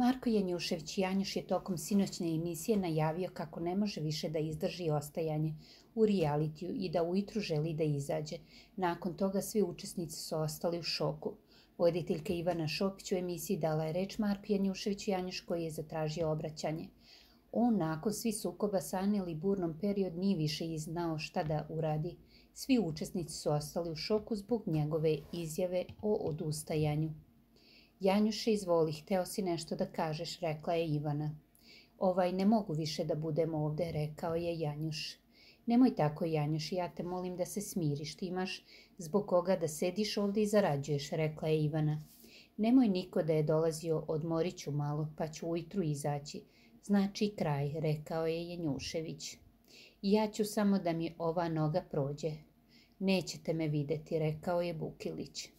Marko Janjušević Janjuš je tokom sinoćne emisije najavio kako ne može više da izdrži ostajanje u realitiju i da ujutru želi da izađe. Nakon toga svi učesnici su ostali u šoku. Voditeljka Ivana Šopić u emisiji dala je reč Marku Janjuševiću Janjuš koji je zatražio obraćanje. On nakon svih sukoba sa Aneli burnom period nije više znao šta da uradi. Svi učesnici su ostali u šoku zbog njegove izjave o odustajanju. Janjuše, izvoli, hteo si nešto da kažeš, rekla je Ivana. Ne mogu više da budem ovde, rekao je Janjuš. Nemoj tako, Janjuš, ja te molim da se smiriš, ti imaš zbog koga da sediš ovde i zarađuješ, rekla je Ivana. Nemoj niko da je dolazio, odmorit ću malo, pa ću ujutru izaći. Znači kraj, rekao je Janjušević. Ja ću samo da mi ova noga prođe. Nećete me videti, rekao je Bukilić.